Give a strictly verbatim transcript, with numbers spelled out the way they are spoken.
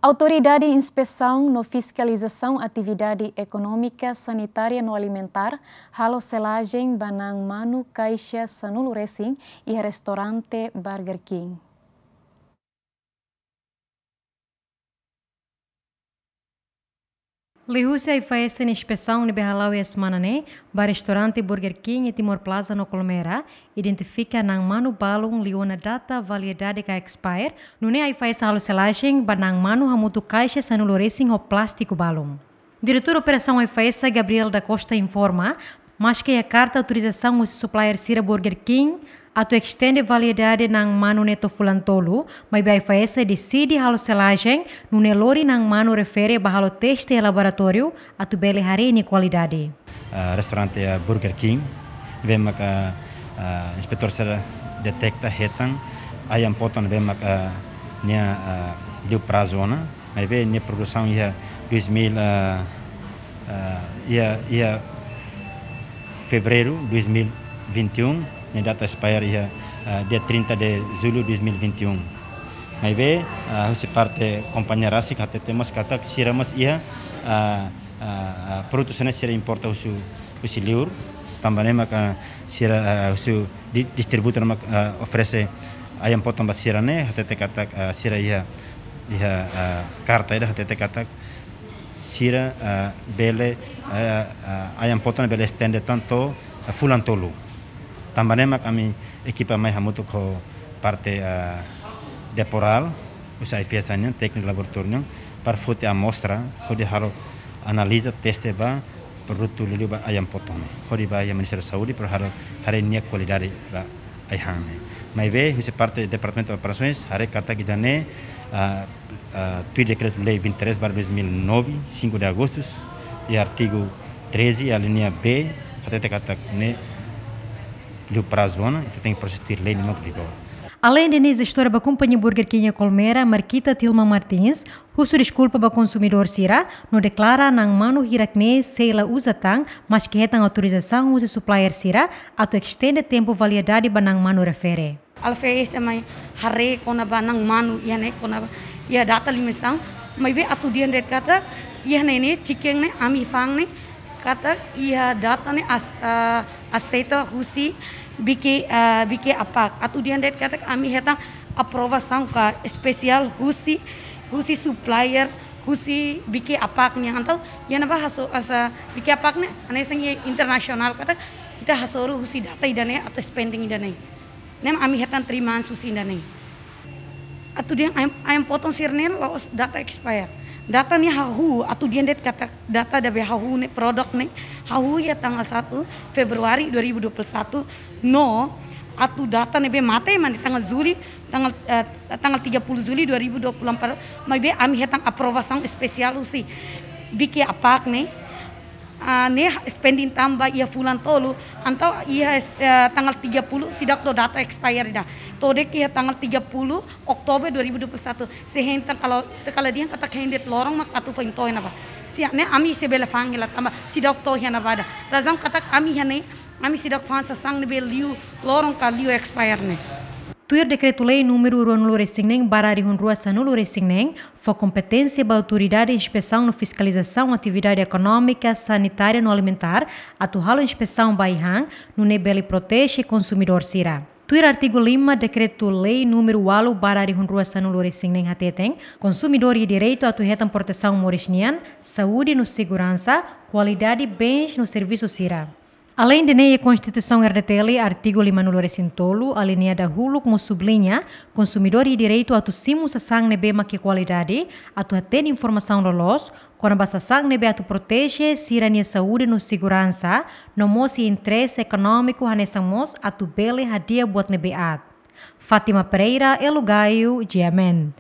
Autoridade Inspesaun no Fiskalizasaun Atividade Ekonómika, Sanitária no Alimentár halo selajen ba na'an manu kaixa sanulu resin iha restaurante Burger King. Liuhusi AIFAESA nia inspesaun ne'ebé hala'o iha semana ne'e ba restaurante Burger King iha Timor Plaza no Colmera, identifika na'an manu balun liu ona data validade ka expire, nune'e AIFAESA halo selajen ba na'an manu hamutuk kaixa sanulu resin ho plástiku balun. Diretór Operasaun AIFAESA, Gabriel da Costa, informa, maske iha karta autorizasaun husi supplier sira Burger King atu estende validade na'an manu ne'e to'o fulan tolu, maibé AIFAESA deside halo selajen, nune'e lori na'an manu refere ba halo teste iha laboratóriu atu bele haree nia kualidade. Ah, restaurante, ah, Burger King, ne'ebé maka, ah, inspetór sira deteta hetan ayam potong ne'ebé maka nia, ah, liu prazu ona, maibé nia produsaun iha dois mil, ah, ah, iha, iha fevereiru dois mil e vinte e um, nia data expire iha, ah, dia trinta de julho dois mil e vinte e um. Maibé, ah, husi parte kompañia rasik hatete mós katak sira mós iha, ah, ah, ah, produtu sira ne'e sira importa husi, husi liur, tanba ne'e maka sira, ah, husi di-, distribuidór mak, ah, oferese ayam potong ba sira ne'e, hatete katak, ah, sira iha, iha, ah, karta ida hatete katak sira, ah, bele, ah, ah, ayam potong bele estende tan to'o, ah, fulan tolu. Tanba ne'e mak ami ekipa mai hamutuk ho parte, ah, Deporal, husi AIFAESA nian, tékniku laboratóriu nian, para foti amostra, hodi halo analiza, teste ba produtu liuliu ba ayam potong ne'e. Hodi bá iha Ministériu Saúde, para halo haree nia kualidade ba ai-han ne'e. Maibé, husi parte Departamentu Operasoens, haree katak ida-ne'e, ah, ah, tuir Dekretu-Lei vinte e três barra dois mil e nove, cinco de agosto, iha artigu treze, alínea B, hatete katak ne'e liu prazu ona, ita tenke proses tuir lei ne'ebé mak vigora. Aleinde ne'e, jestora ba kompañia Burger King iha Colmera, Marquita Tilma Martins, husu deskulpa ba konsumidór sira, no deklara na'an manu hirak ne'e sei la uza tan, maske hetan autorizasaun husi supplier sira atu estende tempu validade ba na'an manu refere. AIFAESA mai haree kona-ba na'an manu iha ne'e, kona-ba iha data limisaun, maibé atu dehan de'it katak iha ne'e ne'e, chicken ne'e, ami fa'an ne'e, katak iha data ne'e as-, ah, aseita husi BK, ah, BK APAC. Atu dehan de'it katak ami hetan aprovasaun ka espesiál husi, husi supplier, husi BK APAC nian. Entaun, iha ne'ebá haso-, hanesan BK APAC ne'e, hanesan iha internasionál katak ita hasoru husi data ida-ne'e atu expanding ida-ne'e. Ne'e ami hetan three months husi ida-ne'e. Atu dehan ayam, ayam potong sira-ne'e la'ós data expire. Data ne'e hahú, atu dehan de'it katak data ida-ne'ebé hahú ne'e, produk ne'e hahú iha tanggal satu Februari dua ribu dua puluh satu, no atu data ne'ebé mate mak ne'e tanggal Juli, tanggal, eh, tanggal tiga puluh Juli dua ribu dua puluh empat, maibé ami hetan aprovasaun espesiál husi BK APAC ne'e, ah, ne'e expanding tan ba iha fulan tolu, entaun iha, eh, tanggal tiga puluh seidauk to'o data expire ida. To'o de'it iha tanggal tiga puluh Oktober dua ribu dua puluh satu. Se hetan kalau, kalau dehan katak hein de'it loron mak atu foin to'o iha ne'ebá. Se ne'e ami sei bele fa'an hela tanba seidauk to'o iha ne'ebá ida. Razaun katak ami iha ne'e, ami seidauk fa'an sasán ne'ebé liu loron ka liu expire ne'e. Tuir Dekretu-Lei númeru ruanulu resin neen barra rihun rua sanulu resin neen, fó kompeténsia ba Autoridade Inspesaun no Fiskalizasaun Atividade Ekonómika, Sanitária no Alimentár atu halo inspesaun ba ai-han, nune'e bele proteje konsumidór sira. Tuir artigu lima Dekretu-Lei númeru ualu barra rihun rua sanulu resin neen hateten, konsumidór iha direitu atu hetan protesaun moris nian, saúde no seguransa, kualidade bens no servisu sira. Aleinde ne'e, iha Konstituisaun R D T L, artigu limanulu resin tolu, alínea dahuluk mós subliña, konsumidór iha direitu atu simu sasán ne'ebé mak iha kualidade, atu hatene informasaun loloos kona-ba sasán ne'ebé atu proteje sira-nia saúde no seguransa, no mós iha interese ekonómiku hanesan mós atu bele hadi'a buat ne'ebé aat. Fátima Pereira, Elo Gaio, G M N.